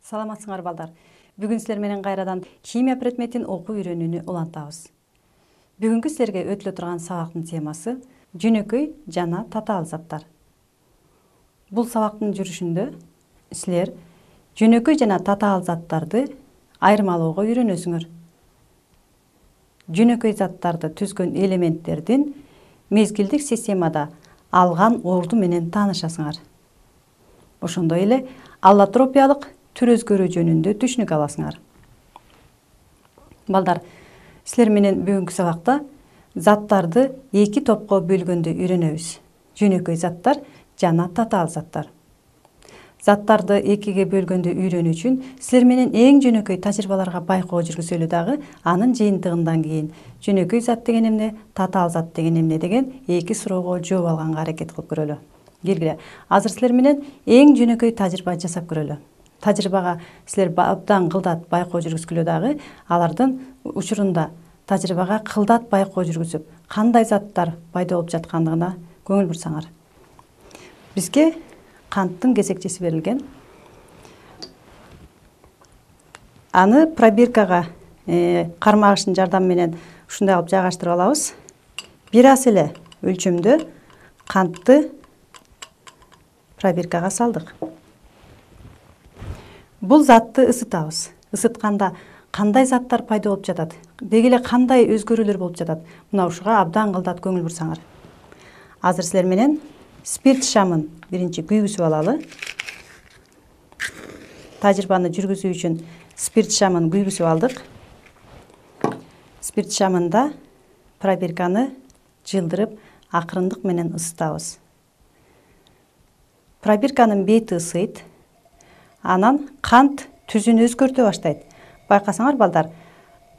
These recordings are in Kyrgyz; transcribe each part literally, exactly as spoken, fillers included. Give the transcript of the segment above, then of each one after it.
Саламатсыңар балдар. Бүгүн силер менен кайрадан химия предметин окуу үйрөнүүнү улантабыз. Бүгүнкү силерге өтүлө турган сабактын темасы жөнөкөй жана татаал заттар. Бул сабактын жүрүшүндө силер жөнөкөй жана татаал заттарды айырмалоого үйрөнөсүңөр. Жөнөкөй заттарды түзгөн элементтердин мезгилдик системада алган орду менен таанышасыңар. Ошондой эле аллотропиялык түр өзгөрүү жөнүндө түшүнүк аласыңар. Балдар, силер менен бүгүнкү сабакта заттарды эки топко бөлгөндү үйрөнөбүз. Жөнөкөй заттар жана татаал заттар. Заттарды экиге бөлгөндү үйрөнүү үчүн силер менен эң жөнөкөй тажрыйбаларга байкоо жүргүзөлү дагы анын жыйынтыгынан кийин жөнөкөй зат деген эмне, татаал зат деген эмне деген эки суроого жооп алганга аракет кылып көрөлү. Келгиле, азыр силер менен эң жөнөкөй тажрыйба жасап көрөлү. Тажрыйбага силер абдан кылдат байкоо жүргүзгүлө дагы алардын учурунда тажрыйбага кылдат байкоо жүргүзүп, кандай заттар пайда болуп жаткандыгына көңүл бурсаңар. Бизге канттын кесекчеси берилген. Аны пробиркага кармагыштын жардамы менен ушундай кылып жайгаштырып алабыз. Бир аз эле өлчөмдө кантты пробиркага салдык. Бул затты ысытабыз. Isытканда кандай заттар пайда болуп жатат? Деги эле кандай өзгөрүүлөр болуп жатат? Мына ушуга абдан кылдат көңүл бурсаңар. Азыр силер менен спирт шамын биринчи күйгүзүп алалы. Тажрыйбаны жүргүзүү үчүн спирт шамын күйгүзүп алдык. Спирт шамында пробирканы жылдырып, акырындык менен ысытабыз. Пробирканын бети ысыйт. Анан кант түзүн өзгөртө баштайт. Байкасаңар балдар,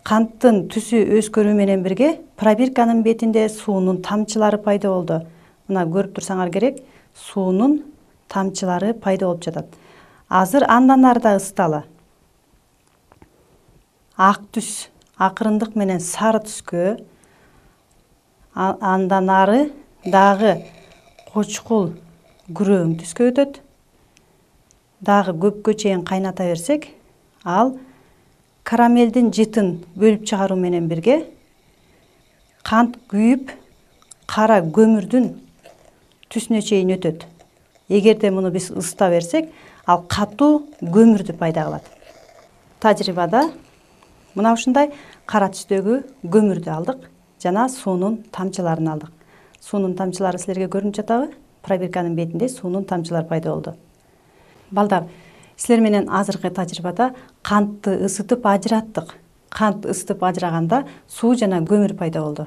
канттын түсү өзгөрүү менен бирге пробирканын бетинде суунун тамчылары пайда болду. Мына көрүп турсаңар керек, суунун тамчылары пайда болуп жатат. Азыр андан ары да ысыталы. Ак түс акырындык менен сары түскө, андан ары дагы кочкул күрөң түскө өтөт. Дагы көпкө чейин кайната берсек, ал карамелдин жытын бөлүп чыгаруу менен бирге кант күйүп, кара көмүрдүн түсүнө чейин өтөт. Эгерде муну биз ысыта берсек, ал катуу көмүрдү пайда кылат. Тажрыйбада мына ушундай кара түстөгү көмүрдү алдык жана суунун тамчыларын алдык. Суунун тамчылары силерге көрүнүп жатабы? Пробирканын бетинде суунун тамчылары пайда болду. Балдар, силер менен азыркы тажрыйбада кантты ысытып ажыраттык. Кант ысытып ажыраганда суу жана көмүр пайда болду.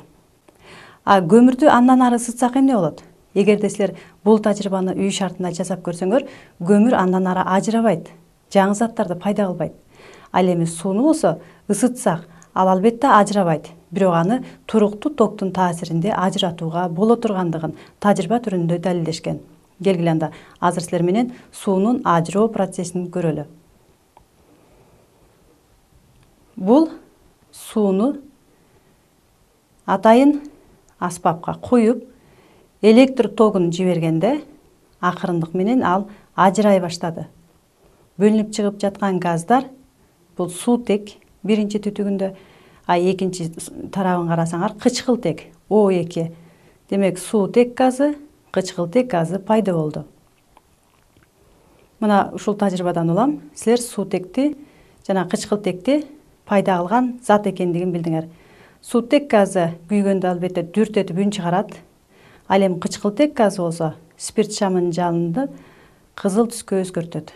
А көмүрдү андан ары ысытсак эмне болот? Эгерде силер бул тажрыйбаны үй шартында жасап көрсөңөр, көмүр андан ары ажырабайт, жаңы заттарды пайда кылбайт. Ал эми сууну болсо ысытсак, ал албетте ажырабайт. Бирок аны туруктуу токтун таасиринде ажыратууга боло тургандыгын тажрыйба түрүндө далилдешкен. Келгиле анда, азыр силер менен суунун ажыроо процессин көрөлү. Бул сууну атайын аспапка куюп, электр тогун жибергенде акырындык менен ал ажырай баштады. Бөлүнүп чыгып жаткан газдар бул суутек биринчи түтүгүндө, а экинчи тарабын карасаңар кычкылтек О эки. Демек суутек газы, кычкылтек газы пайда болду. Мына ушул тажрыйбадан улам силер суутекти жана кычкылтекти пайда кылган зат экендигин билдиңер. Суутек газы күйгөндө албетте дүртөтүп үн чыгарат. Ал эми кычкылтек газы болсо спирт шамынын жалынды кызыл түскө өзгөртөт.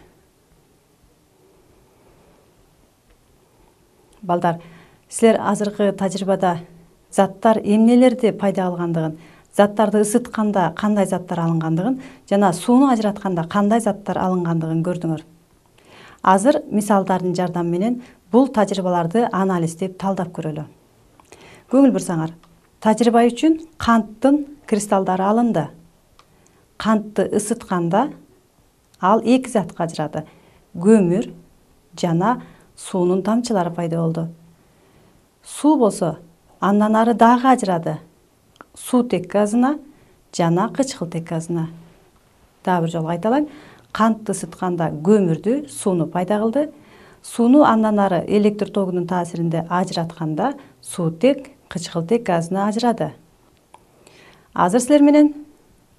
Балдар, силер азыркы тажрыйбада заттар эмнелерди пайда кылгандыгын, заттарды ысытканда кандай заттар алынгандыгын жана сууну ажыратканда кандай заттар алынгандыгын көрдүңөр. Азыр мисалдардын жардамы менен бул тажрыйбаларды анализдеп талдап көрөлү. Көңүл бурсаңар, тажрыйба үчүн канттын кристалдары алынды. Кантты ысытканда ал эки затка ажырады. Көмүр жана суунун тамчылары пайда болду. Суу болсо андан ары дагы ажырады. Суутек газына жана кычкылтек газына. Дагы бир жолу кайталайм. кантты ысытканда көмүрдү, сууну пайда кылды. Сууну андан ары электр тогунун таасиринде ажыратканда суутек, кычкылтек газына ажырады. Азыр силер менен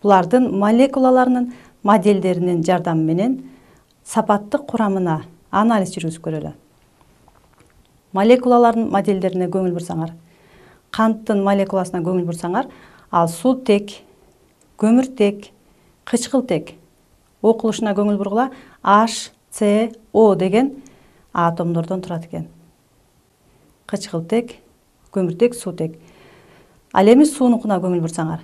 булардын молекулаларынын моделдеринин жардамы менен сапаттык курамына анализ жүргүзүп көрөлү. Молекулалардын моделдерине көңүл бурсаңар, канттын молекуласына көңүл бурсаңар, ал суутек, көмүртек, кычкылтек окулушуна көңүл бургула. H, C, O деген атомдордон турат экен. Кычкылтек, көмүртек, суутек. Ал эми суунукуна көңүл бурсаңар,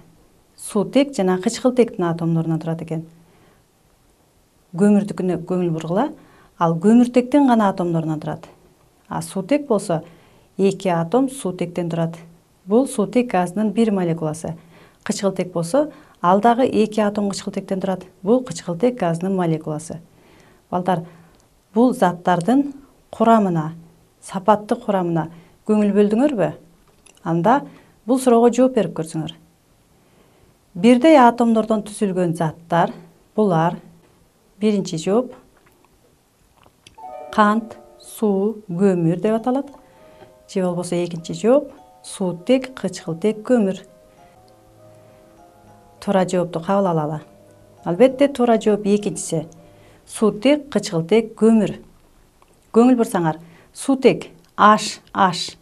суутек жана кычкылтектин атомдорунан турат экен. Көмүрдүкүнө көңүл бургула, ал көмүртектин гана атомдорунан турат. А суутек болсо эки атом суутектен турат. Бул суутек газынын бир молекуласы. Кычкылтек болсо ал дагы эки атом кычкылтектен турат. Бул кычкылтек газынын молекуласы. Балдар, бул заттардын курамына, сапаттык курамына көңүл бөлдүңөрбү? Анда бул суроого жооп берип көрсүңөр. Бирдей атомдордон түзүлгөн заттар, булар биринчи жооп кант, суу, көмүр деп аталат. Же болбосо экинчи жооп суутек, кычкылтек, көмүр. Туура жоопту кабыл алалы. Албетте туура жооп экинчиси. Суутек, кычкылтек, көмүр. Көңүл бурсаңар, суутек H, H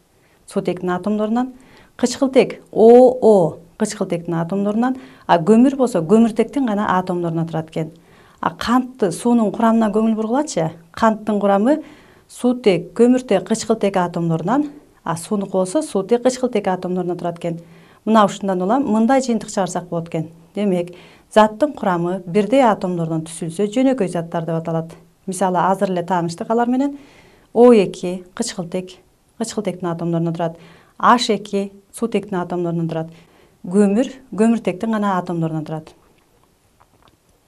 суутектин атомдорунан, кычкылтек O, O кычкылтектин атомдорунан, а көмүр болсо көмүртектин гана атомдорунан турат экен. А кантты, суунун курамына көңүл бургулачы. Канттын курамы суутек, көмүртек, кычкылтек атомдорунан, а суунуку болсо суутек, кычкылтек атомдорунан турат экен. Мына ушундан улам мындай жыйынтык чыгарсак болот экен. Демек, заттын курамы бирдей атомдордон түзүлсө жөнөкөй заттар деп аталат. Мисалы, азыр эле тааныштык алар менен. О эки кычкылтек, кычкылтектин атомдорунан турат. H эки суутектин атомдорунан турат. Көмүр көмүртектин гана атомдорунан турат.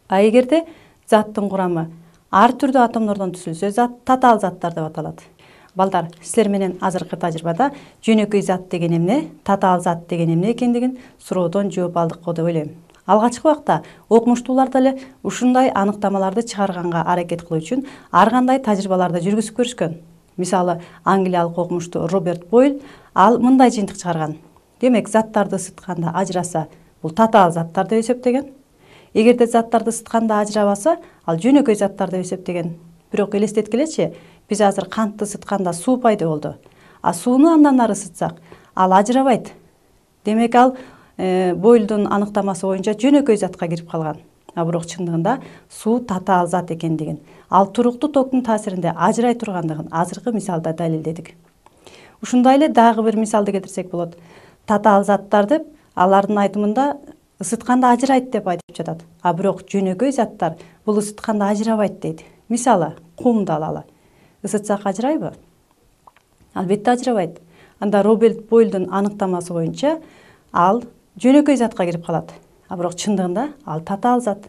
А эгерде заттын курамы ар түрдүү атомдордон түзүлсө, зат татаал заттар деп аталат. Балдар, силер менен азыркы тажрыйбада жөнөкөй зат деген эмне, татаал зат деген эмне экендигин суроодон жооп алдык го деп ойлойм. Алгачкы убакта окумуштуулар деле ушундай аныктамаларды чыгарганга аракет кылуу үчүн ар кандай тажрыйбаларды жүргүзүп көрүшкөн. Мисалы, англиялык окумуштуу Роберт Бойл ал мындай жыйынтык чыгарган. Демек, заттарды ысытканда ажыраса, бул татаал заттар деп эсептеген. Эгерде заттарды ысытканда ажырабаса, ал жөнөкөй заттар деп эсептеген. Бирок элестеткилечи, биз азыр кантты ысытканда суу пайда болду. А сууну андан ары ысытсак, ал ажырабайт. Демек, ал э, Бойлдун аныктамасы боюнча жөнөкөй затка кирип калган. А бирок чындыгында суу татаал зат экендигин, ал туруктуу токтун таасиринде ажырай тургандыгын азыркы мисалда далилдедик. Ушундай эле дагы бир мисалды келтирсек болот. Татаал заттар деп алардын айтымында ысытканда ажырайт деп айтып жатат. А бирок жөнөкөй заттар бул ысытканда ажырабайт дейт. Мисалы, кумду алалы. Ысытсак ажырайбы? Албетте ажырабайт. Анда Роберт Бойлдун аныктамасы боюнча ал жөнөкөй затка кирип калат. А бирок чындыгында ал татаал зат.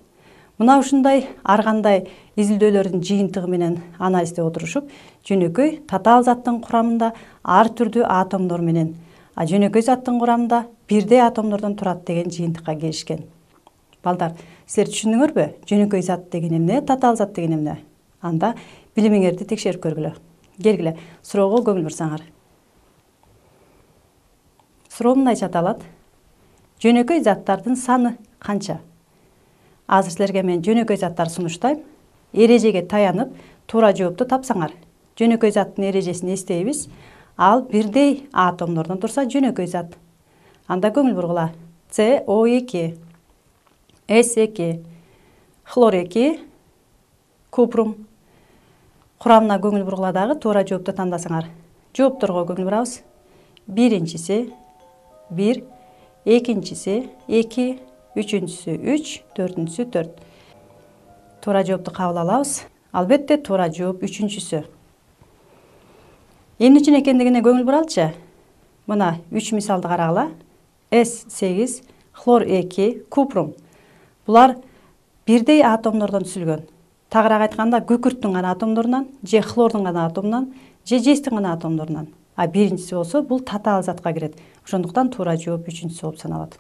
Мына ушундай ар кандай изилдөөлөрдүн жыйынтыгы менен анализдеп отурушуп, жөнөкөй татаал заттын курамында ар түрдүү атомдор менен, а жөнөкөй заттын курамында бирдей атомдордон турат деген жыйынтыкка келишкен. Балдар, силер түшүндүңөрбү? Жөнөкөй зат деген эмне, татаал зат деген эмне? Анда билимиңерди текшерип көргүлө. Келгиле, суроого көңүл бурсаңар. Суроо мындайча аталат. Жөнөкөй заттардын саны канча? Азыр силерге мен жөнөкөй заттар сунуштайм. Эрежеге таянып, туура жоопту тапсаңар. Жөнөкөй заттын эрежесин эстейбиз. Ал бирдей атомдордон турса жөнөкөй зат. Анда көңүл бургула. С О эки, С эки, хлор эки, купрум. Курамына көңүл бургула дагы туура жоопту тандасаңар. Жоопторго көңүл бурабыз. Биринчиси бир, экинчиси эки, үчүнчүсү үч, төртүнчүсү төрт. Туура жоопту кабыл алабыз. Албетте туура жооп үчүнчүсү. Эмне үчүн экендигине көңүл буралчы. Мына үч мисалды карагыла. С сегиз, хлор эки, купрум. Булар бирдей атомдордон түзүлгөн. Тагыраак айтканда, күкүрттүн гана атомдорунан, же хлордун гана атомунан, же жестин гана атомдорунан. А биринчиси болсо бул татаал затка кирет. Ошондуктан туура жооп үчүнчүсү болуп саналат.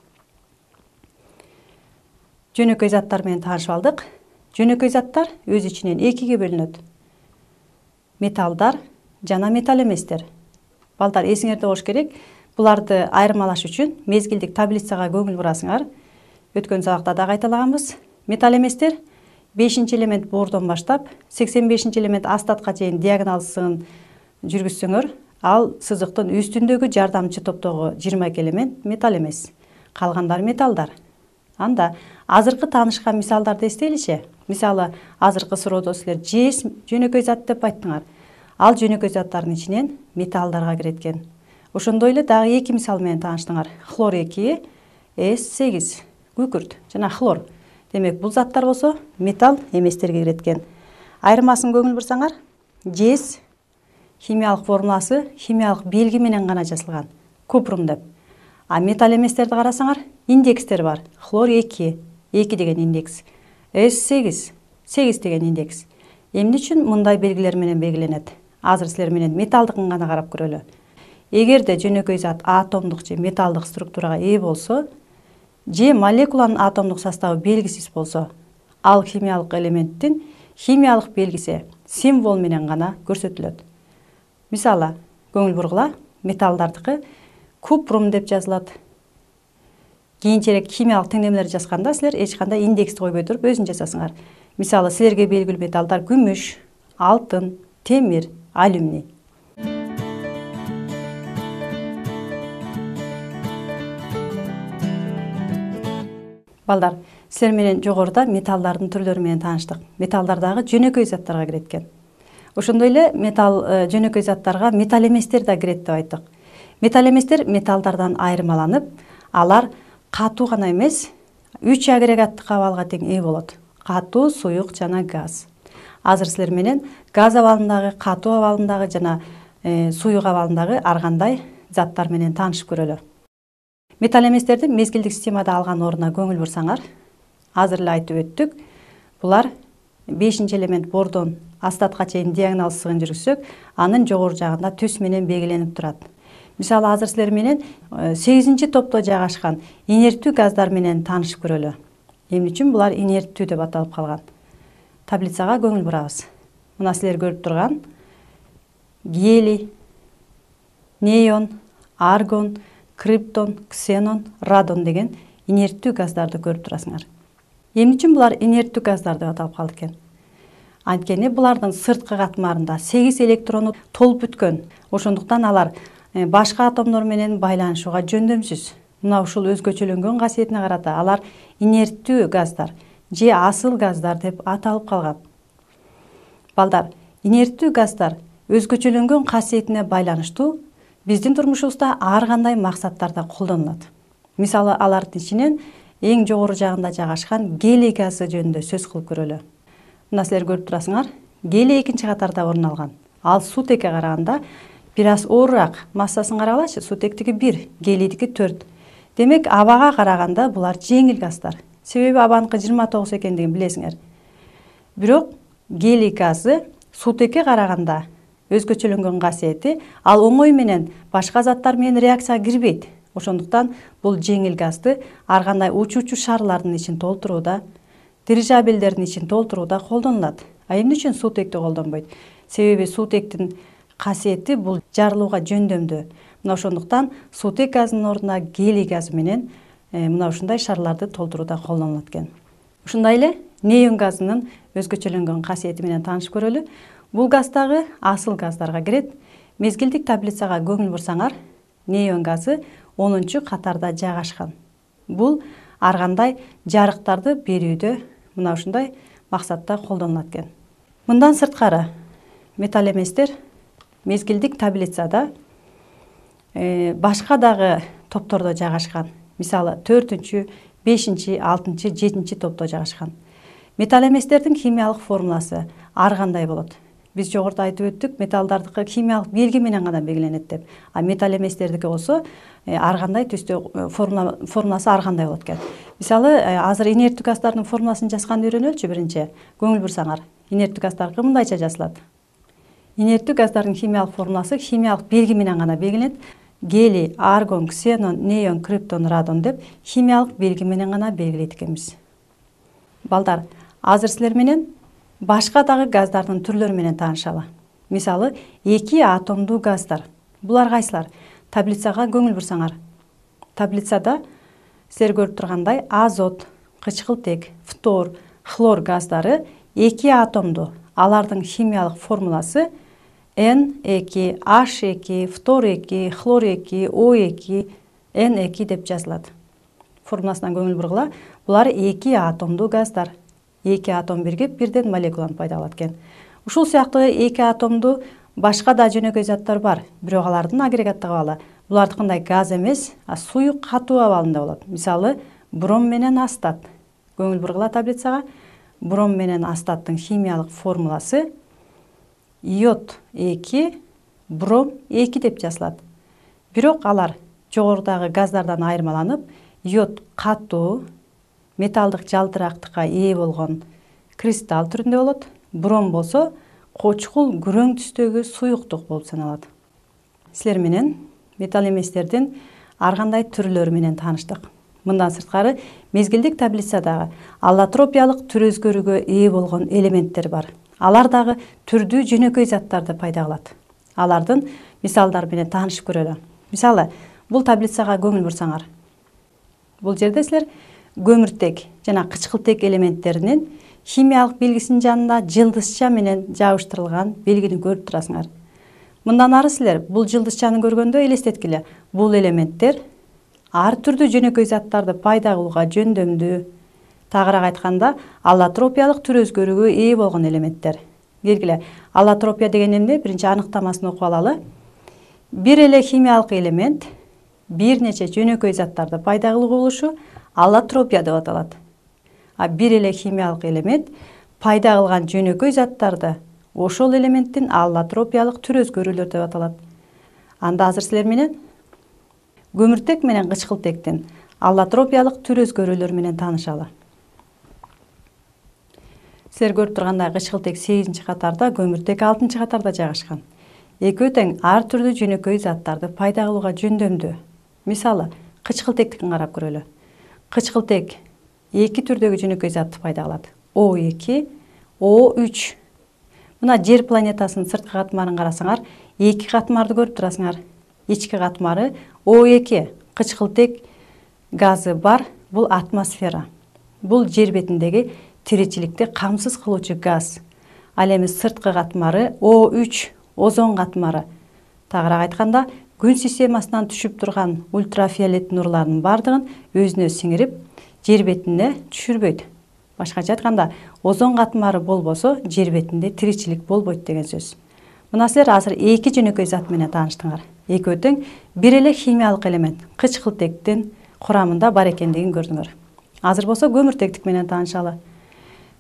Жөнөкөй заттар менен таанышып алдык. Жөнөкөй заттар өз ичинен экиге бөлүнөт. Металлдар жана металл эместер. Балдар, эсиңерде болуш керек. Буларды айырмалаш үчүн мезгилдик таблицага көңүл бурасыңар. Өткөн сабакта да кайталаганбыз. Металл эместер бешинчи элемент бордон баштап сексен бешинчи элемент астатка чейин диагонал сызыгын жүргүзсөңөр, ал сызыктын үстүндөгү жардамчы топтогу жыйырма эки элемент металл эмес. Калгандары металлдар. Анда азыркы таанышкан мисалдарды эстейличи. Мисалы, азыркы суроодо силер жез жөнөкөй зат деп айттыңар. Ал жөнөкөй заттардын ичинен металлдарга кирет экен. Ошондой эле дагы эки мисал менен тааныштыңар. Хлор эки, эс сегиз, күкүрт жана хлор. Демек, бул заттар болсо металл эместерге кирет экен. Айырмасын көңүл бурсаңар, жез химиялык формуласы химиялык белги менен гана жазылган. Купрум деп. А металл эместерди карасаңар, индекстер бар. Хлор эки, эки деген индекс. эс сегиз, сегиз деген индекс. Эмне үчүн мындай белгилер менен белгиленет? Азыр силер менен металлдыкын гана карап көрөлү. Эгерде жөнөкөй зат атомдук же металлдык структурага ээ болсо, же молекуланын атомдук составы белгисиз болсо, ал химиялык элементтин химиялык белгиси символ менен гана көрсөтүлөт. Мисалы, көңүл бургула, металлдардыкы купрум деп жазылат. Кийинчерээк химиялык теңдемелер жазганда силер эч кандай индексти койбой туруп өзүн жасасыңар. Мисалы, силерге белгилүү металлдар күмүш, алтын, темир, алюминий. Балдар, силер менен жогоруда металлдардын түрлөрү менен тааныштык. Металлдар дагы жөнөкөй заттарга кирет экен. Ошондой эле металл жөнөкөй заттарга металл эместер да кирет деп айттык. Металл эместер металлдардан айырмаланып, алар катуу гана эмес, үч агрегаттык абалга тең ээ болот. Катуу, суюк жана газ. Азыр силер менен газ абалындагы, катуу абалындагы жана э, суюк абалындагы ар кандай заттар менен таанышып көрөлү. Металл эместердин мезгилдик системада алган ордуна көңүл бурсаңар, азыр эле айтып өттүк. Булар бешинчи элемент бордон астатка чейин диагонал сызыгын жүргүзсөк, анын жогору жагында түс менен белгиленип турат. Мисалы, азыр силер менен сегизинчи топто жайгашкан инерттүү газдар менен таанышып көрөлү. Эмне үчүн булар инерттүү деп аталып калган? Таблицага көңүл бурабыз. Мына силер көрүп турган гелий, неон, аргон, криптон, ксенон, радон деген инерттүү газдарды көрүп турасыңар. Эмне үчүн булар инерттүү газдар деп аталып калды экен? Анткени булардын сырткы катмарында сегиз электрону толуп бүткөн. Ошондуктан алар башка атомдор менен байланышууга жөндөмсүз. Мына ушул өзгөчөлөнгөн касиетине карата алар инерттүү газдар же асыл газдар деп аталып калган. Балдар, инерттүү газдар өзгөчөлөнгөн касиетине байланыштуу биздин турмушубузда ар кандай максаттарда колдонулат. Мисалы, алардын ичинен эң жогору жагында жайгашкан гелий газы жөнүндө сөз кылып көрөлү. Мына силер көрүп турасыңар, гелий экинчи катарда орун алган. Ал сутекке караганда бир аз оорураак. Массасын карагылачы, сутектики бир, гелийдики төрт. Демек, абага караганда булар жеңил газдар. Себеби абаныкы жыйырма тогуз экендигин билесиңер. Бирок гелий газы сутекке караганда өзгөчөлөнгөн касиети, ал оңой менен башка заттар менен реакцияга кирбейт. Ошондуктан бул жеңил газды ар кандай учуучу шарлардын ичин толтурууда, дирижабелдердин ичин толтурууда колдонулат. А эмне үчүн сутекти колдонбойт? Себеби сутектин касиети бул жарылууга жөндөмдүү. Мына ошондуктан сутек газынын ордуна гелий газы менен э, мына ушундай шарларды толтурууда колдонулат экен. Ушундай эле неон газынын өзгөчөлөнгөн касиети менен таанышып көрөлү. Бул газ дагы асыл газдарга кирет. Мезгилдик таблицага көңүл бурсаңар, неон газы онунчу катарда жайгашкан. Бул ар кандай жарыктарды берүүдө мына ушундай максатта колдонулат экен. Мындан сырткары, металл эместер мезгилдик таблицада э, башка дагы топтордо жайгашкан. Мисалы, төртүнчү, бешинчи, алтынчы, жетинчи топто жайгашкан. Металл эместердин химиялык формуласы ар кандай болот? Биз жогоруда айтып өттүк, металлдардыкы химиялык белги менен гана белгиленет деп. А металл эместердики болсо ар кандай түстө формула формуласы ар кандай болот экен. Мисалы, азыр инерттүү газдардын формуласын жазганды үйрөнөлүчү биринчи. Көңүл бурсаңар, инерттүү газдар мындайча жазылат. Инерттүү газдардын химиялык формуласы химиялык белги менен гана белгиленет. Гелий, аргон, ксенон, неон, криптон, радон деп химиялык белги менен гана белгилейт экенбиз. Балдар, Азыр силер менен башка дагы газдардын түрлөрү менен таанышалы. Мисалы, эки атомдуу газдар. Булар кайсылар? Таблицага көңүл бурсаңар. Таблицада силер көрүп тургандай азот, кычкылтек, фтор, хлор газдары эки атомдуу. Алардын химиялык формуласы эн эки, аш эки, фтор эки, хлор эки, о эки, эн эки деп жазылат. Формуласынан көңүл бургула. Булар эки атомдуу газдар. Эки атом биригип бирден молекуланы пайда кылат экен. Ушул сыяктуу эки атомдуу башка да жөнөкөй заттар бар, бирок алардын агрегаттык абалы. Буларды кандай газ эмес, а суюк катуу абалында болот. Мисалы, бром менен астат. Көңүл бургула таблицага. Бром менен астаттын химиялык формуласы йод эки, бром эки деп жазылат. Бирок алар жогорудагы газдардан айырмаланып, йод катуу, металдык жалтырактыкка ээ болгон кристалл түрүндө болот. Бром болсо кочкул күрөң түстөгү суюктук болуп саналат. Силер менен металл эместердин ар кандай түрлөрү менен тааныштык. Мындан сырткары мезгилдик таблицадагы аллотропиялык түр өзгөрүүгө ээ болгон элементтер бар. Алар дагы түрдүү жөнөкөй заттарды пайда кылат. Алардын мисалдары менен таанышып көрөлү. Мисалы, бул таблицага көңүл бурсаңар. Бул жерде силер көмүртек жана кычкылтек элементтеринин химиялык белгисинин жанында жылдызча менен жабыштырылган белгини көрүп турасыңар. Мындан ары силер бул жылдызчаны көргөндө элестеткиле. Бул элементтер ар түрдүү жөнөкөй заттарды пайда кылууга жөндөмдүү, тагыраак айтканда, аллотропиялык түр өзгөрүүгө ээ болгон элементтер. Келгиле, аллотропия деген эмне? Биринчи аныктамасын окуп алалы. Бир эле химиялык элемент бир нече жөнөкөй заттарды пайда кылуу болушу аллотропия деп аталат. А бир эле химиялык элемент пайда кылган жөнөкөй заттарды ошол элементтин аллотропиялык түр өзгөрүүлөр деп аталат. Анда азыр силер менен көмүртек менен кычкылтектин аллотропиялык түр өзгөрүүлөр менен таанышалы. Силер көрүп тургандай кычкылтек сегизинчи катарда, көмүртек алтынчы катарда жайгашкан. Экөө тең ар түрдүү жөнөкөй заттарды пайда кылууга жөндөмдүү. Мисалы, кычкылтектикин карап көрөлү. Кычкылтек эки түрдөгү жөнөкөй затты пайда кылат. о эки, о үч. Мына жер планетасынын сырткы катмарын карасаңар, эки катмарды көрүп турасыңар. Ички катмары о эки, кычкылтек газы бар, бул атмосфера. Бул жер бетиндеги тиричиликти камсыз кылуучу газ. Ал эми сырткы катмары о үч, озон катмары. Тагыраак айтканда, күн системасынан түшүп турган ультрафиолет нурларынын бардыгын өзүнө сиңирип, жер бетине түшүрбөйт. Башкача айтканда, озон катмары болбосо, жер бетинде тиричилик болбойт деген сөз. Мына силер азыр эки жөнөкөй зат менен тааныштыңар. Экөө тең бир эле химиялык элемент кычкылтектин курамында бар экендигин көрдүңөр. Азыр болсо көмүртектик менен таанышалы.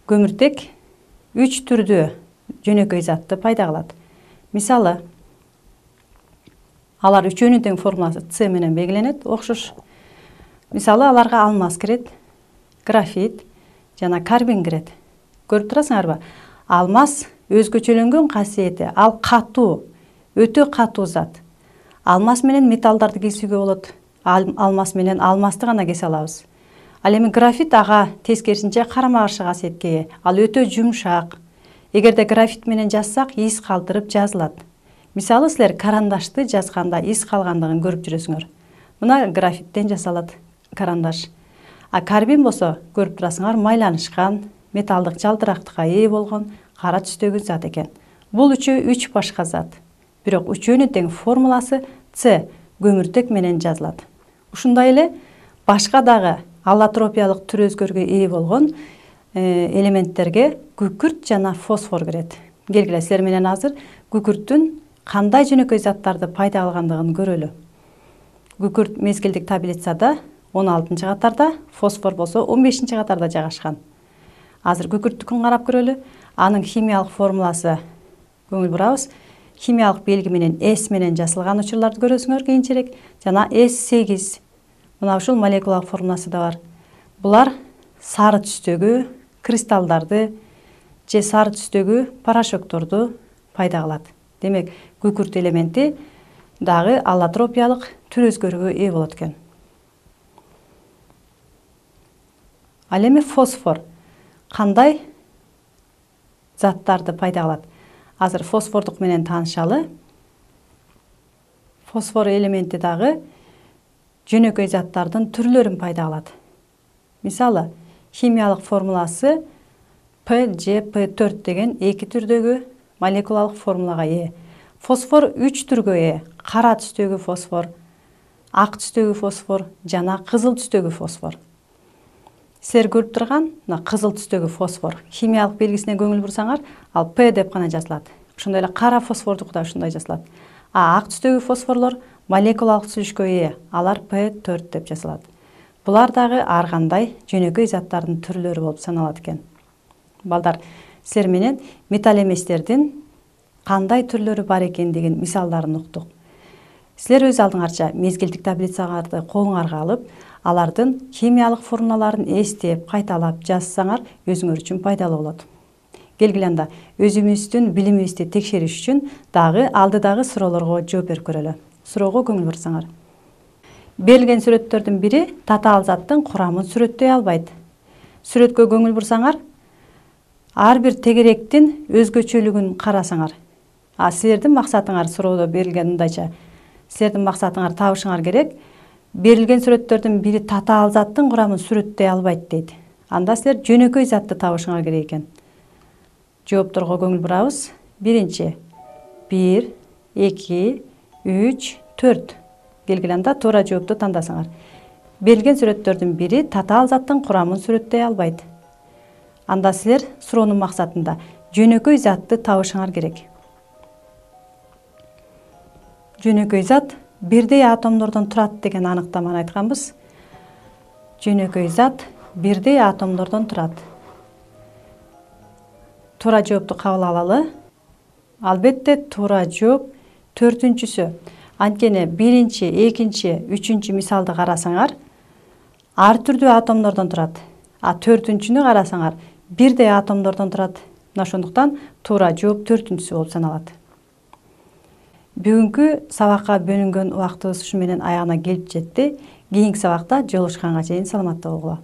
Көмүртек үч түрдүү жөнөкөй затты пайда кылат. Мисалы, алар үчөөнүн тең формуласы С менен белгиленет, окшош. Мисалы, аларга алмаз кирет, графит жана карбин кирет. Көрүп турасыңарбы? Алмаз өзгөчөлөнгөн касиети, ал катуу, өтө катуу зат. Алмаз менен металлдарды кесүүгө болот. Алмаз менен алмазды гана кесе алабыз. Ал эми графит ага тескерисинче карама каршы касиетке ээ. Ал өтө жумшак. Эгерде графит менен жазсак, из калтырып жазылат. Мисалы, силер карандашты жазганда из калгандыгын көрүп жүрөсүңөр. Мына графиттен жасалат карандаш. А карбин болсо, көрүп турасыңар, майланышкан, металдык жалтырактыкка ээ болгон кара түстөгү зат экен. Бул үчөө үч башка зат. Бирок үчөөнүн тең формуласы С, көмүртек менен жазылат. Ушундай эле башка дагы аллотропиялык түр өзгөрүүгө ээ болгон элементтерге күкүрт жана фосфор кирет. Келгиле, силер менен азыр күкүрттүн кандай жөнөкөй заттарды пайда кылгандыгын көрөлү. Күкүрт мезгилдик таблицада он алтынчы катарда, фосфор болсо он бешинчи катарда жайгашкан. Азыр күкүрттүкүн карап көрөлү. Анын химиялык формуласы көңүл бурабыз. Химиялык белги менен С менен жазылган учурларды көрөсүңөр кийинчерээк, жана эс сегиз. Мына ушул молекулалык формуласы да бар. Булар сары түстөгү кристаллдарды же сары түстөгү порошокторду пайда кылат. Демек, күкүрт элементи дагы аллотропиялык түр өзгөрүүгө ээ болот экен. Ал эми фосфор кандай заттарды пайда кылат. Азыр фосфордук менен таанышалы. Фосфор элементи дагы жөнөкөй заттардын түрлөрүн пайда кылат. Мисалы, химиялык формуласы П Ж П төрт деген эки түрдөгү молекулалык формулага ээ. Фосфор үч түргө ээ. Кара түстөгү фосфор, ак түстөгү фосфор жана кызыл түстөгү фосфор. Силер көрүп турган мына кызыл түстөгү фосфор химиялык белгисине көңүл бурсаңар, ал П деп гана жазылат. Ошондой эле кара фосфордук да ушундай жазылат. А ак түстөгү фосфорлор молекулалык түзүлүшкө ээ. Алар П төрт деп жазылат. Булар дагы ар кандай жөнөкөй заттардын түрлөрү болуп саналат экен. Балдар, силер менен металл эместердин кандай түрлөрү бар экендигин мисалдарын уктук. Силер өз алдыңарча мезгилдик таблицаларды колуңарга алып, алардын химиялык формулаларын эстеп, кайталап жазсаңар, өзүңөр үчүн пайдалуу болот. Келгиле анда өзүбүздүн билимибизди текшериш үчүн дагы алдыдагы суроолорго жооп берип көрөлү. Суроого көңүл бурсаңар. Берилген сүрөттөрдүн бири татаал заттын курамын сүрөттөй албайт. Сүрөткө көңүл бурсаңар, ар бир тегеректин өзгөчөлүгүн карасаңар. А силердин максатыңар суроодо берилген мындайча. Силердин максатыңар табышыңар керек. Берилген сүрөттөрдүн бири татаал заттын курамын сүрөттөй албайт дейт. Анда силер жөнөкөй затты табышыңар керек экен. Жоопторго көңүл бурабыз. Биринчи. бир, эки, үч, төрт. Келгиле анда туура жоопту тандасаңар. Берилген сүрөттөрдүн бири татаал заттын курамын сүрөттөй албайт. Анда силер суроонун максатында жөнөкөй затты табышыңар керек. Жөнөкөй зат бирдей атомдордон турат деген аныктаманы айтканбыз. Жөнөкөй зат бирдей атомдордон турат. Туура жоопту кабыл алалы. Албетте туура жооп төртүнчүсү. Анткени биринчи, экинчи, үчүнчү мисалды карасаңар, ар түрдүү атомдордон турат. А төртүнчүнү карасаңар, бирдей атомдордон турат. Мына ошондуктан туура жооп төртүнчүсү болуп саналат. Бүгүнкү сабакка бөлүнгөн убактыбыз ушу менен аягына келип жетти. Кийинки сабакта жолугушканга чейин саламатта болгула.